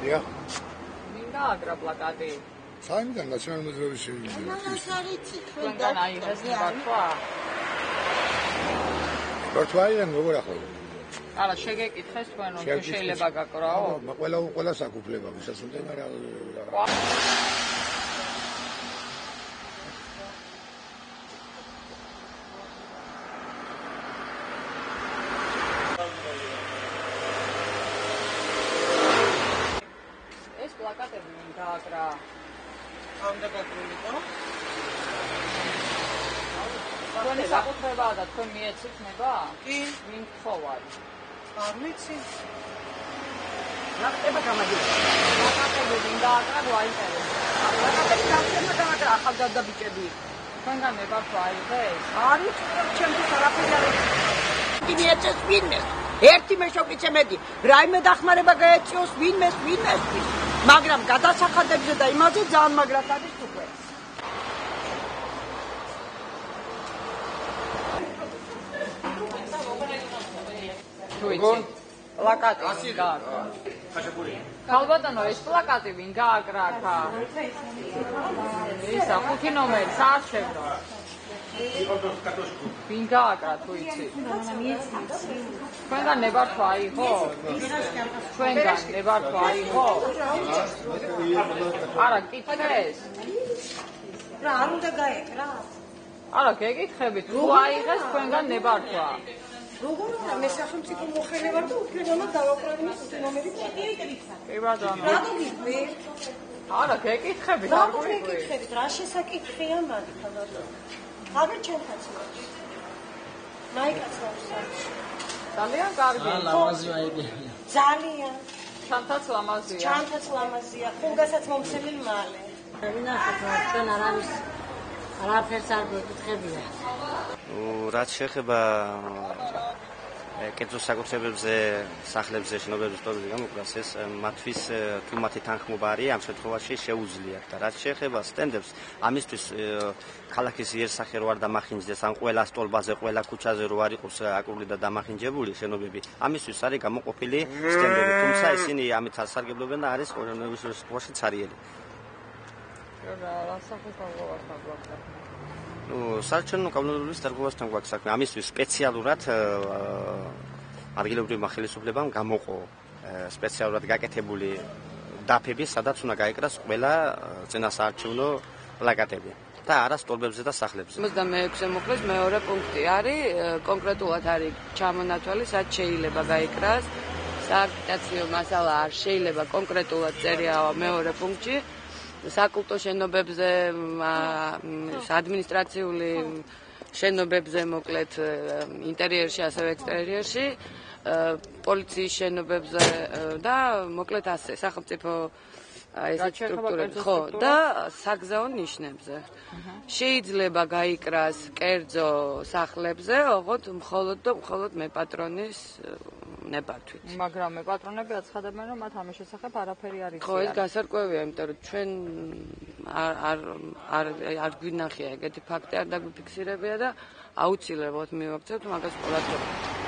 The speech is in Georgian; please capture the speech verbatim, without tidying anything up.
დიახ. მინდა აგრა პლაკატი. საერთოდ ნაციონალური მოძრაობის თქვენგან აიღეს ნებართვა? ბართვაიდან როგორ ახლა? არა, შეგეკითხეს თქვენ რომ შეიძლება გაკრაო? ყველა ყველა საკუთრება ვისასუნდა რა. ეს პლაკატები მინ გააკრა. ამდა გაკრულიყო? თქვენი საკუთრებაა და თქვენ მიეცით ნება? კი. ვინ გთხოვარ? არ ვიცი. რა ხდება გამადიოლა? პლაკატები მინ გააკრა გვაინტერესებს. პლაკატები გახდება გააკრა ახალგაზრდა ბიჭები. თქვენგან ნებართვა აიღეს? არის, ჩემთვის არაფერი არ არის. მიეცეს ვინმეს? ერთი მეშოკიცე მედი. რაიმე დახმარება გაეწიოს ვინმეს, ვინმესთვის. მაგრამ გადასახადებზე და იმაზე ძალიან მაგრად არის უკვე. პლაკატი ვინ გააკრა? ხალბატონო, ეს პლაკატი ვინ გააკრა აქა? ისა ხუთი ნომერი საარჩევნო. ვინ გააკრა თუ იცი? თქვენგან ნებართვა აიღო? თქვენგან ნებართვა აიღო? არა, გკითხეს? რა არ უნდა გაეკრა? არა, გეკითხებით, თუ აიღეს თქვენგან ნებართვა? როგორ უნდა მე სახელმწიფო მოხელე ვარ და უფლებამოდ დავაკრავინე ხუთი ნომერი პლაკატი. კი ბატონო. რატო გიყვი? არა, გეკითხებით, არ რატო გეკითხებით? რა შესაკითხია მაგ თავად? აგერ ჩემთაც ვარ. მაიკაცავს. ძალიან კარგი. ლამაზი აიგებია. ძალიან. ჩანთაც ლამაზია. ჩანთაც ლამაზია. ხუნდასაც მომცემი მალე. ვინახოთ, თქვენ არავის არაფერს არ გეკითხებია. რაც შეეხება კერძო საკუთრებებზე, სახლებზე, შენობებზე გამოკვლას, ეს მათთვის თუ მათი თანხმობა არის, ამ შემთხვევაში შეუძლიათ და რაც შეეხება სტენდებს, ამისთვის ქალაქის იერსახე რო არ დამახინჯდეს, ან ყველა სტოლბაზე, ყველა ქუჩაზე რო არ იყოს აკრული და დამახინჯებული შენობები, ამისთვის არის გამოყოფილი სტენდები, თუმცა ისინი ამით არ სარგებლობენ და არის ყოველგვარ შემთხვევაში ცარიელი. რა სასახელო გვაქვს? ну საერთოდ კანონმდებლობის დარღვევასთან გვაქვს საქმე. ამისთვის სპეციალურად ადგილობრივმა ხელისუფლებამ გამოყო სპეციალურად გაკეთებული დაფები, სადაც უნდა გაეკრას ყველა წინასაარჩევნო პლაკატები და არა სტოლბებზე და სახლებზე. ოცდამეექვსე მოკლეს მეორე პუნქტი არის, კონკრეტულად არის ჩამონათვალი, სად შეიძლება გაეკრას. სააგიტაციო მასალა არ შეიძლება კონკრეტულად წერია მეორე პუნქტში. საკულტო შენობებზე, ადმინისტრაციული შენობებზე, მოკლედ ინტერიერში, ასევე ექსტერიერში, პოლიციის შენობებზე და მოკლედ ასე, სახელმწიფო ესეთ სტრუქტურები, ხო, და საგზაო ნიშნებზე. შეიძლება გაიკრას კერძო სახლებზე, ოღონდ მხოლოდ და მხოლოდ მეპატრონის ნებართვით. მაგრამ მეპატრონები აცხადებენ, რომ მათ ამის შესახებ არაფერი არ იციან. ხო, ეს გასარკვევია, იმიტომ რომ ჩვენ არ არ არ არ გვინახია ეგეთი ფაქტი, არ დაგვიფიქსირებია და აუცილებლად მივაქცევთ მაგას ყურადღება.